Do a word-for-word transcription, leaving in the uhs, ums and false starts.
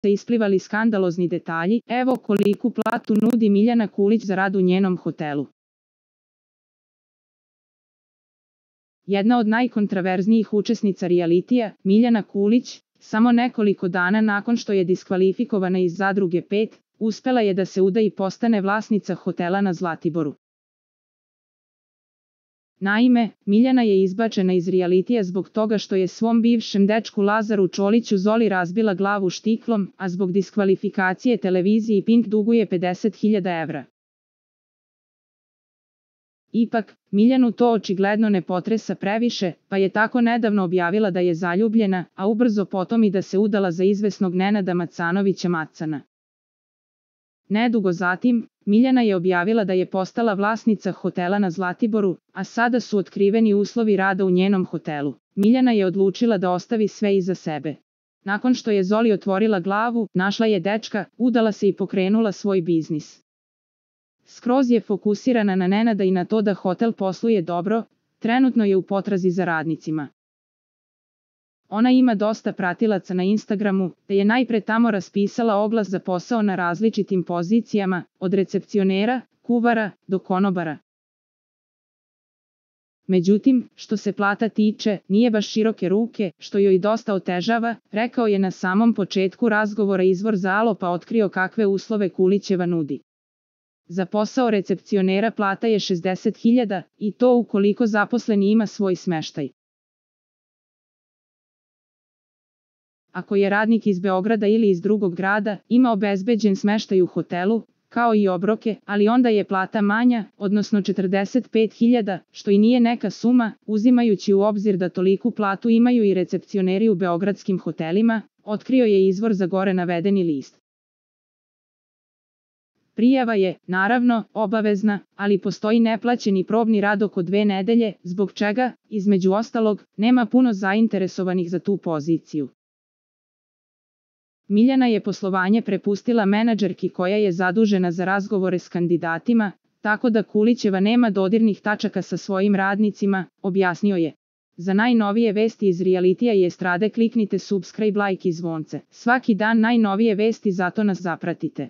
se isplivali skandalozni detalji, evo koliku platu nudi Miljana Kulić za rad u njenom hotelu. Jedna od najkontraverznijih učesnica realitija, Miljana Kulić, samo nekoliko dana nakon što je diskvalifikovana iz Zadruge pet, uspela je da se uda i postane vlasnica hotela na Zlatiboru. Naime, Miljana je izbačena iz realitija zbog toga što je svom bivšem dečku Lazaru Čoliću Zoli razbila glavu štiklom, a zbog diskvalifikacije televiziji Pink duguje pedeset hiljada evra. Ipak, Miljanu to očigledno ne potresa previše, pa je tako nedavno objavila da je zaljubljena, a ubrzo potom i da se udala za izvesnog Nenada Macanovića Macana. Nedugo zatim, Miljana je objavila da je postala vlasnica hotela na Zlatiboru, a sada su otkriveni uslovi rada u njenom hotelu. Miljana je odlučila da ostavi sve iza sebe. Nakon što je Zoli otvorila glavu, našla je dečka, udala se i pokrenula svoj biznis. Skroz je fokusirana na Nenada i na to da hotel posluje dobro, trenutno je u potrazi za radnicima. Ona ima dosta pratilaca na Instagramu, te je najpre tamo raspisala oglas za posao na različitim pozicijama, od recepcionera, kuvara, do konobara. Međutim, što se plata tiče, nije baš široke ruke, što joj dosta otežava, rekao je na samom početku razgovora izvor za Alo pa otkrio kakve uslove Kulićeva nudi. Za posao recepcionera plata je šezdeset hiljada, i to ukoliko zaposleni ima svoj smeštaj. Ako je radnik iz Beograda ili iz drugog grada, ima obezbeđen smeštaj u hotelu, kao i obroke, ali onda je plata manja, odnosno četrdeset pet hiljada, što i nije neka suma, uzimajući u obzir da toliku platu imaju i recepcioneri u beogradskim hotelima, otkrio je izvor za gore navedeni list. Prijava je, naravno, obavezna, ali postoji neplaćeni probni rad oko dve nedelje, zbog čega, između ostalog, nema puno zainteresovanih za tu poziciju. Miljana je poslovanje prepustila menadžerki koja je zadužena za razgovore s kandidatima, tako da Kulićeva nema dodirnih tačaka sa svojim radnicima, objasnio je. Za najnovije vesti iz realitija i estrade kliknite subscribe, like i zvonce. Svaki dan najnovije vesti, zato nas zapratite.